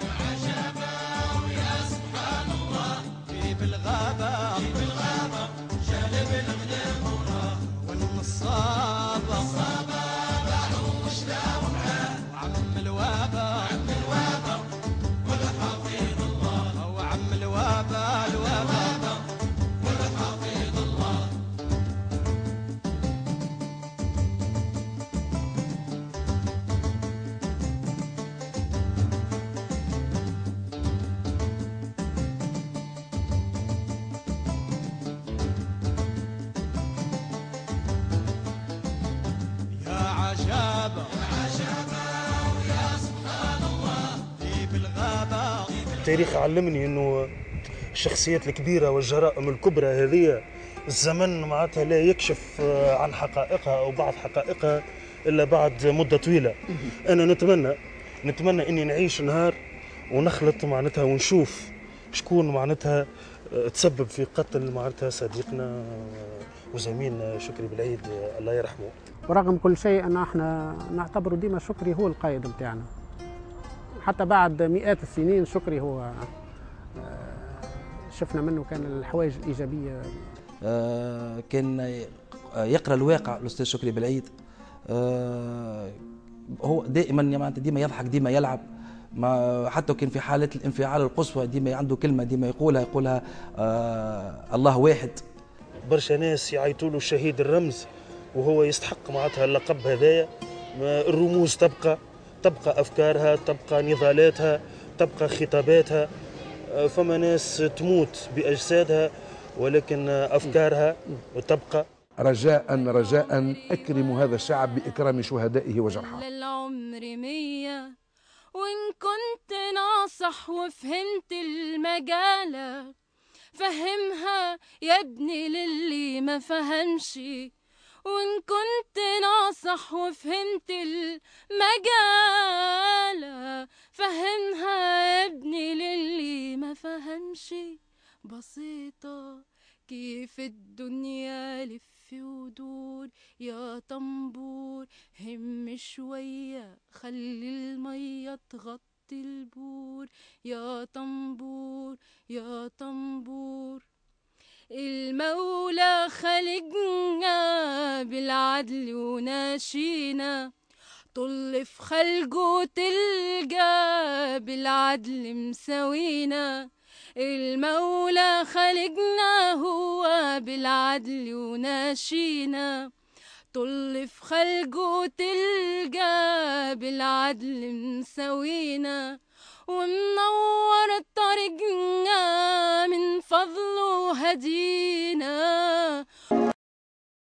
ويا سبحان الله في بالغابة في بالغابة جانب الغنم وراه والنصابة النصابة باعوا وشلاو معاه وعم الوابة عم الوابة والحفيظ الله وعم الوابة الوابة والحفيظ الله. التاريخ علمني انه الشخصيات الكبيرة والجرائم الكبرى هذه الزمن معناتها لا يكشف عن حقائقها او بعض حقائقها الا بعد مده طويلة. انا نتمنى نتمنى اني نعيش نهار ونخلط معناتها ونشوف شكون معناتها تسبب في قتل معناتها صديقنا وزميلنا شكري بالعيد الله يرحمه. ورغم كل شيء ان احنا نعتبره ديما شكري هو القائد نتاعنا، حتى بعد مئات السنين شكري هو شفنا منه كان الحوايج الايجابية. آه كان يقرا الواقع الاستاذ شكري بالعيد. آه هو دائما يعني ديما يضحك، ديما يلعب، ما حتى كان في حالات الانفعال القصوى ديما عنده كلمة ديما يقولها يقولها آه الله واحد. برشا ناس يعيطوا له الشهيد الرمز وهو يستحق معناتها اللقب هذايا. الرموز تبقى، تبقى افكارها، تبقى نضالاتها، تبقى خطاباتها. فما ناس تموت باجسادها ولكن افكارها تبقى. رجاء رجاء اكرموا هذا الشعب باكرام شهدائه وجرحاه. للعمر مية وإن كنت ناصح وفهمت المجالة فهمها يا ابني للي ما فهمش، وإن كنت ناصح وفهمت المجالة فهمها يا ابني للي ما فهمش. بسيطة كيف الدنيا لف ودور يا طنبور، هم شوية خلي المية تغطي البور يا طنبور يا طنبور. المولى خلقنا بالعدل وناشينا، طل في خلقه تلقى بالعدل مساوينا. المولى خلقنا هو بالعدل وناشينا، طل في خلقه تلقى بالعدل مساوينا، ومنور طريقنا من فضله هدينا.